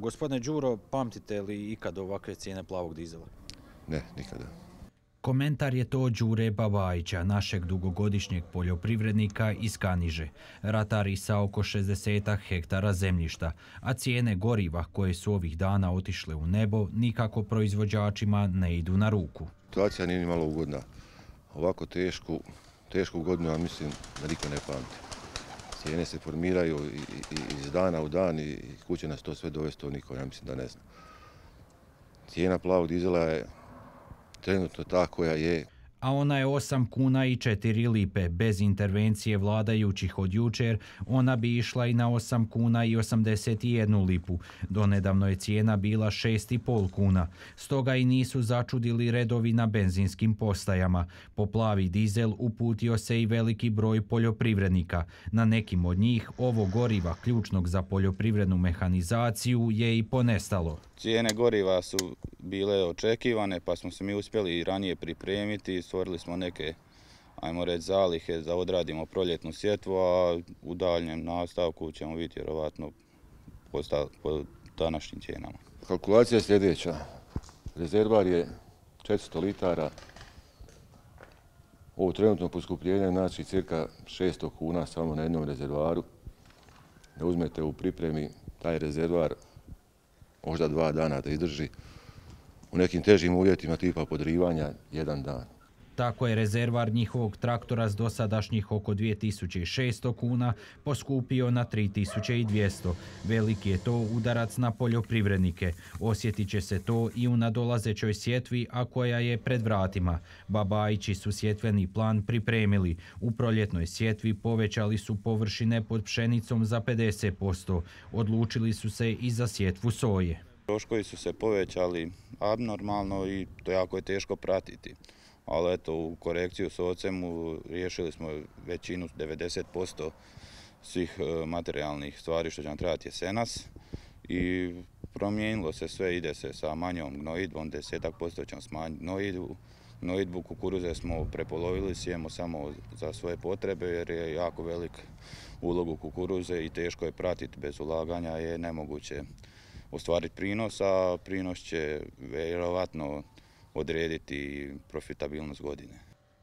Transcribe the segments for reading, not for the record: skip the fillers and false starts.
Gospodine Đuro, pamtite li ikad ovakve cijene plavog dizela? Ne, nikada. Komentar je to Đure Babajića, našeg dugogodišnjeg poljoprivrednika iz Kaniže. Ratari sa oko 60 hektara zemljišta, a cijene goriva koje su ovih dana otišle u nebo nikako proizvođačima ne idu na ruku. Situacija nije ni malo ugodna. Ovako tešku godinu, ja mislim da niko ne pamti. Cijene se formiraju iz dana u dan i kuće nas to sve dovesti, to niko, ja mislim da ne zna. Cijena plavog dizela je trenutno ta koja je. A ona je 8 kuna i 4 lipe. Bez intervencije vladajućih od jučer, ona bi išla i na 8 kuna i 81 lipu. Donedavno je cijena bila 6,5 kuna. Stoga i nisu začudili redovi na benzinskim postajama. Po plavi dizel uputio se i veliki broj poljoprivrednika. Na nekim od njih ovo goriva ključnog za poljoprivrednu mehanizaciju je i ponestalo. Cijene goriva su bile očekivane, pa smo se mi uspjeli i ranije pripremiti. Stvorili smo neke, ajmo reći, zalihe da odradimo proljetnu sjetvu, a u daljnjem nastavku ćemo vidjeti vjerovatno po današnjim cijenama. Kalkulacija je sljedeća. Rezervar je 400 litara. Ovo trenutno poskupljenje znači cirka 600 kuna samo na jednom rezervaru. Da uzmete u pripremi taj rezervar možda 2 dana da izdrži. U nekim težim uvjetima tipa podrivanja 1 dan. Tako je rezervar njihovog traktora s dosadašnjih oko 2600 kuna poskupio na 3200. Veliki je to udarac na poljoprivrednike. Osjetit će se to i u nadolazećoj sjetvi, a koja je pred vratima. Babajići su sjetveni plan pripremili. U proljetnoj sjetvi povećali su površine pod pšenicom za 50%. Odlučili su se i za sjetvu soje. Troškovi su se povećali abnormalno i to jako je teško pratiti. Ali eto, u korekciju s ocemu riješili smo većinu, 90% svih materijalnih stvari što će nam trebati jesenas i promijenilo se sve, ide se sa manjom gnojidbom, 10% ćemo smanjiti gnojidbu, kukuruze smo prepolovili, sijemo samo za svoje potrebe jer je jako velik ulog u kukuruze i teško je pratiti, bez ulaganja je nemoguće ostvariti prinos, a prinos će vjerovatno odrediti profitabilnost godine.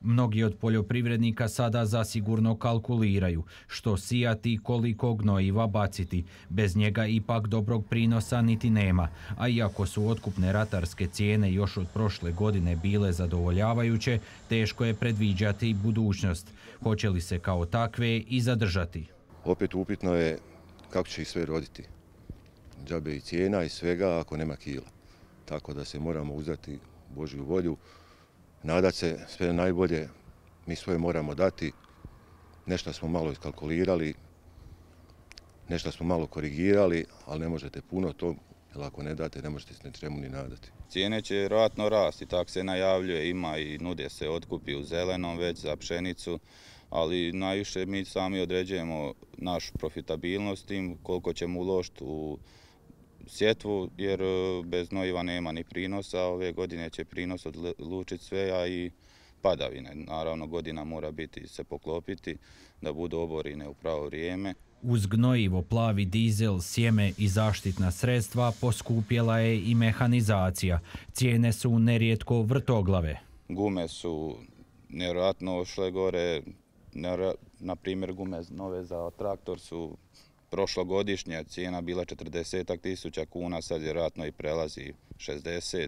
Mnogi od poljoprivrednika sada zasigurno kalkuliraju što sijati i koliko gnojiva baciti. Bez njega ipak dobrog prinosa niti nema. A iako su otkupne ratarske cijene još od prošle godine bile zadovoljavajuće, teško je predviđati budućnost. Hoće li se kao takve i zadržati? Opet upitno je kako će ih sve roditi. Džabe i cijena i svega ako nema kila. Tako da se moramo uzdati Božju volju, nadat se sve najbolje, mi svoje moramo dati, nešto smo malo iskalkulirali, nešto smo malo korigirali, ali ne možete puno to, jer ako ne date ne možete se ničemu ni nadati. Cijene će vjerojatno rasti, tako se najavljuje, ima i nude se otkupi u zelenom već za pšenicu, ali najviše mi sami određujemo našu profitabilnost tim koliko ćemo uložiti u sjetvu, jer bez gnojiva nema ni prinosa. Ove godine će prinos odlučiti sve, a i padavine. Naravno, godina mora biti se poklopiti da budu oborine u pravo vrijeme. Uz gnojivo, plavi dizel, sjeme i zaštitna sredstva poskupjela je i mehanizacija. Cijene su nerijetko vrtoglave. Gume su nevjerojatno ošle gore. Na primjer, gume nove za traktor su prošlogodišnja cijena bila 40.000 kuna, sad vjerojatno i prelazi 60.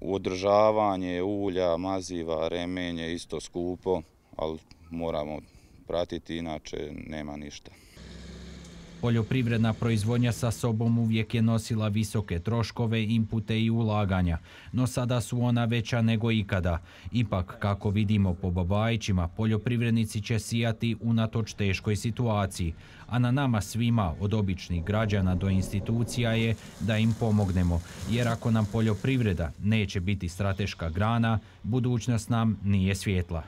Održavanje ulja, maziva, remenje isto skupo, ali moramo pratiti, inače nema ništa. Poljoprivredna proizvodnja sa sobom uvijek je nosila visoke troškove, inpute i ulaganja, no sada su ona veća nego ikada. Ipak, kako vidimo po Babajićima, poljoprivrednici će sijati unatoč teškoj situaciji, a na nama svima, od običnih građana do institucija, je da im pomognemo, jer ako nam poljoprivreda neće biti strateška grana, budućnost nam nije svjetla.